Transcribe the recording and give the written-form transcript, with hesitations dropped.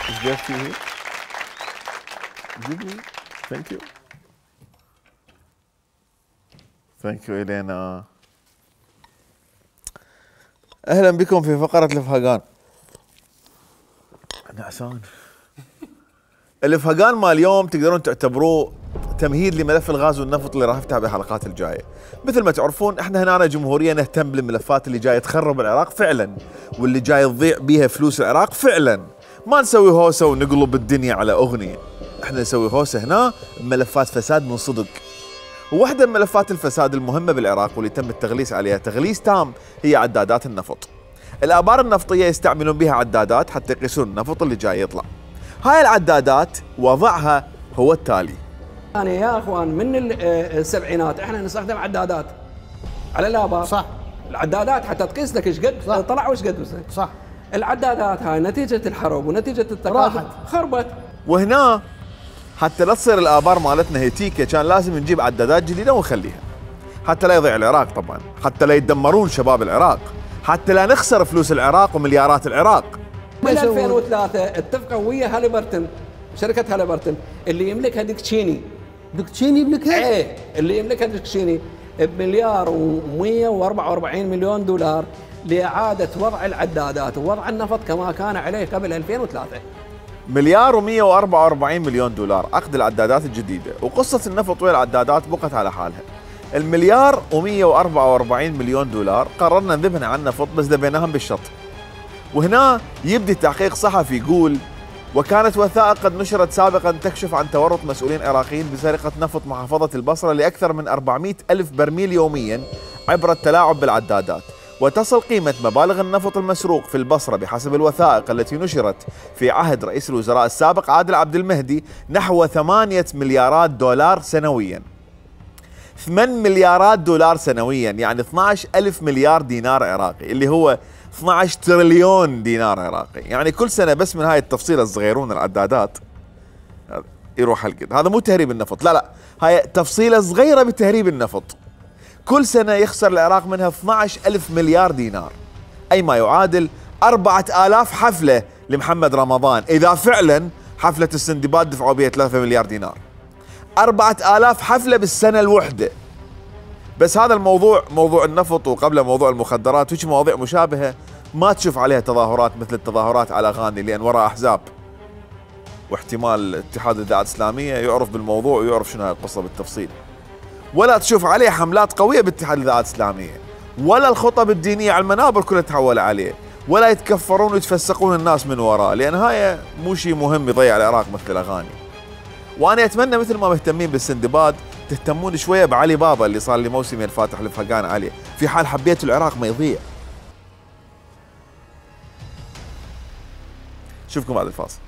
ايش قال فيه؟ جيب لي. ثانك يو. ثانك يو الينا. اهلا بكم في فقرة الفهقان. نعسان. الفهقان مال اليوم تقدرون تعتبروه تمهيد لملف الغاز والنفط اللي راح افتح بالحلقات الجايه. مثل ما تعرفون احنا هنا جمهوريه نهتم بالملفات اللي جايه تخرب العراق فعلا، واللي جاي تضيع بيها فلوس العراق فعلا. ما نسوي هوسه ونقلب الدنيا على اغنيه، احنا نسوي هوسه هنا بملفات فساد من صدق. وواحده من ملفات الفساد المهمه بالعراق واللي تم التغليس عليها تغليس تام هي عدادات النفط. الابار النفطيه يستعملون بها عدادات حتى يقيسون النفط اللي جاي يطلع. هاي العدادات وضعها هو التالي. يعني يا اخوان من السبعينات احنا نستخدم عدادات على الابار. صح. العدادات حتى تقيس لك ايش قد طلع وايش قد وصل. صح. العدادات هاي نتيجه الحرب ونتيجه التقادم خربت. وهنا حتى لا تصير الابار مالتنا هيتيكه كان لازم نجيب عدادات جديده ونخليها، حتى لا يضيع العراق طبعا، حتى لا يتدمرون شباب العراق، حتى لا نخسر فلوس العراق ومليارات العراق. من 2003 اتفقوا ويا هاليبرتون، شركه هاليبرتون اللي يملكها ديكتشيني. ديكتشيني يملكها؟ ايه اللي يملكها ديكتشيني بمليار و144 مليون دولار لاعاده وضع العدادات ووضع النفط كما كان عليه قبل 2003. مليار و144 مليون دولار عقد العدادات الجديده، وقصه النفط ويا العدادات بقت على حالها. المليار و144 مليون دولار قررنا نذبحن عن النفط بس ذبيناهم بالشط. وهنا يبدي تحقيق صحفي يقول: وكانت وثائق قد نشرت سابقا تكشف عن تورط مسؤولين عراقيين بسرقة نفط محافظة البصرة لأكثر من 400 ألف برميل يوميا عبر التلاعب بالعدادات، وتصل قيمة مبالغ النفط المسروق في البصرة بحسب الوثائق التي نشرت في عهد رئيس الوزراء السابق عادل عبد المهدي نحو 8 مليارات دولار سنويا. 8 مليارات دولار سنويا، يعني 12 ألف مليار دينار عراقي، اللي هو 12 تريليون دينار عراقي. يعني كل سنة بس من هاي التفصيلة الصغيرون العدادات يروح هالقد. هذا مو تهريب النفط، لا لا، هاي تفصيلة صغيرة بتهريب النفط. كل سنة يخسر العراق منها 12 ألف مليار دينار، أي ما يعادل 4000 حفلة لمحمد رمضان، إذا فعلا حفلة السندباد دفعوا بها 3 مليار دينار. 4000 حفلة بالسنة الوحدة. بس هذا الموضوع، موضوع النفط وقبله موضوع المخدرات وش مواضيع مشابهة ما تشوف عليها تظاهرات مثل التظاهرات على غاني، لأن وراء أحزاب واحتمال اتحاد الإذاعات الإسلامية يعرف بالموضوع ويعرف شنو هاي القصة بالتفصيل. ولا تشوف عليه حملات قوية باتحاد الإذاعات الإسلامية، ولا الخطب الدينية على المنابر كلها تحول عليه، ولا يتكفرون ويتفسقون الناس من وراه، لأن هاي مو شيء مهم يضيع العراق مثل الأغاني. وأنا أتمنى مثل ما مهتمين بالسندباد تهتمون شوية بعلي بابا اللي صار لي موسمين فاتح الفهقان عليه، في حال حبيتوا العراق ما يضيع. شوفكم بعد الفاصل.